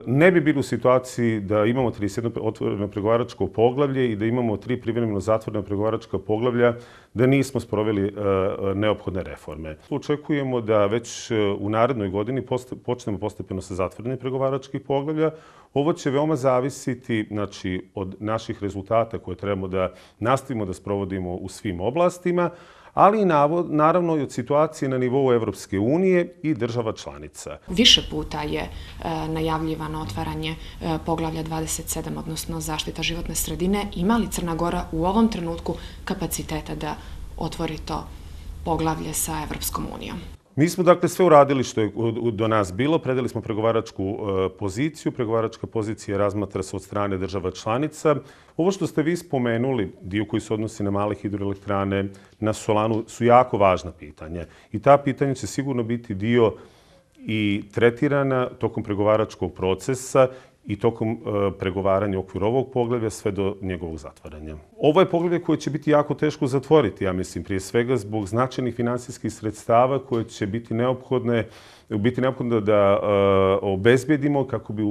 Ne bi bili u situaciji da imamo 31 otvoreno pregovaračko poglavlje i da imamo 3 privremeno zatvorena pregovaračka poglavlja, da nismo sproveli neophodne reforme. Očekujemo da već u narednoj godini počnemo postepeno sa zatvorenim pregovaračkih poglavlja. Ovo će veoma zavisiti od naših rezultata koje trebamo da nastavimo da sprovodimo u svim oblastima, ali i naravno i od situacije na nivou Evropske unije i država članica. Više puta je najavljivano otvaranje poglavlja 27, odnosno zaštita životne sredine. Ima li Crna Gora u ovom trenutku kapaciteta da otvori to poglavlje sa Evropskom unijom? Mi smo dakle sve uradili što je do nas bilo, predali smo pregovaračku poziciju, pregovaračka pozicija razmatra se od strane država članica. Ovo što ste vi spomenuli, dio koji se odnosi na male hidroelektrane, na solanu, su jako važna pitanja. I ta pitanja će sigurno biti dio i tretirana tokom pregovaračkog procesa i tokom pregovaranja u okviru ovog poglavlja sve do njegovog zatvaranja. Ovo je poglavlje koje će biti jako teško zatvoriti, ja mislim, prije svega zbog značajnih finansijskih sredstava koje će biti neophodno da obezbedimo kako bi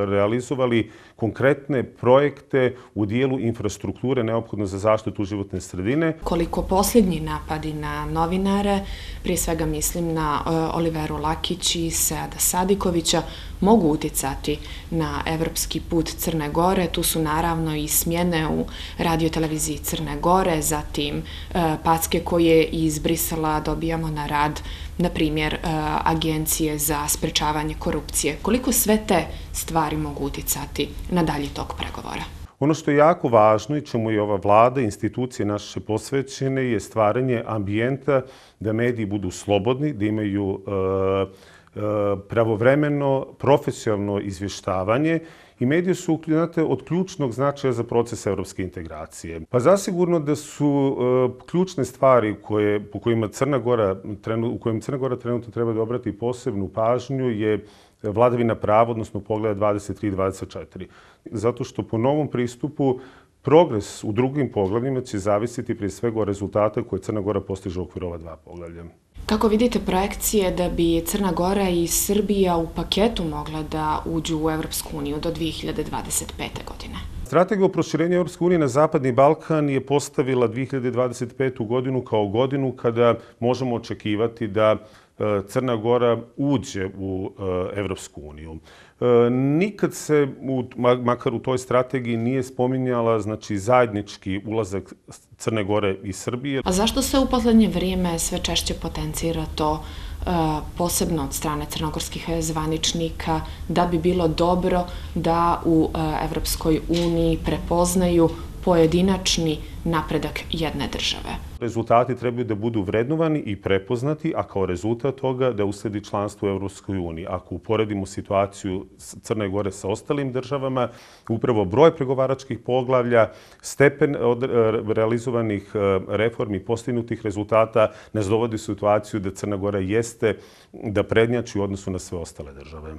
realizovali konkretne projekte u dijelu infrastrukture neophodno za zaštitu životne sredine. Koliko posljednji napadi na novinare, prije svega mislim na Oliveru Lakić i Seada Sadikovića, mogu uticati na evropski put Crne Gore. Tu su naravno i smjene u radioteleviziji Crne Gore, zatim packe koje iz Brisela dobijamo na rad, na primjer Agencije za sprečavanje korupcije. Koliko sve te stvari mogu uticati na dalji tok pregovora? Ono što je jako važno i čemu je ova vlada i institucije naše posvećene je stvaranje ambijenta da mediji budu slobodni, da imaju pravovremeno, profesionalno izvještavanje i mediji su od ključnog značaja za proces evropske integracije. Pa zasigurno da su ključne stvari u kojima Crna Gora trenutno treba da obrati posebnu pažnju je vladavina prava, odnosno poglavlja 23 i 24. Zato što po novom pristupu progres u drugim poglavljima će zavisiti prije svega od rezultata koje Crna Gora postiže u okviru ova 2 poglavlja. Kako vidite projekcije da bi Crna Gora i Srbija u paketu mogla da uđu u Evropsku uniju do 2025. godine? Strategija o proširenju Evropske unije na Zapadni Balkan je postavila 2025. godinu kao godinu kada možemo očekivati da Crna Gora uđe u Evropsku uniju. Nikad se, makar u toj strategiji, nije spominjala zajednički ulazak Crne Gore i Srbije. A zašto se u poslednje vrijeme sve češće potencira to, posebno od strane crnogorskih zvaničnika, da bi bilo dobro da u Evropskoj uniji prepoznaju pojedinačni napredak jedne države? Rezultati trebaju da budu vrednovani i prepoznati, a kao rezultat toga da usledi članstvo u Evropskoj uniji. Ako uporedimo situaciju Crne Gore sa ostalim državama, upravo broj pregovaračkih poglavlja, stepen realizovanih reformi, postignutih rezultata nas dovodi u situaciju da Crna Gora jeste da prednjači u odnosu na sve ostale države.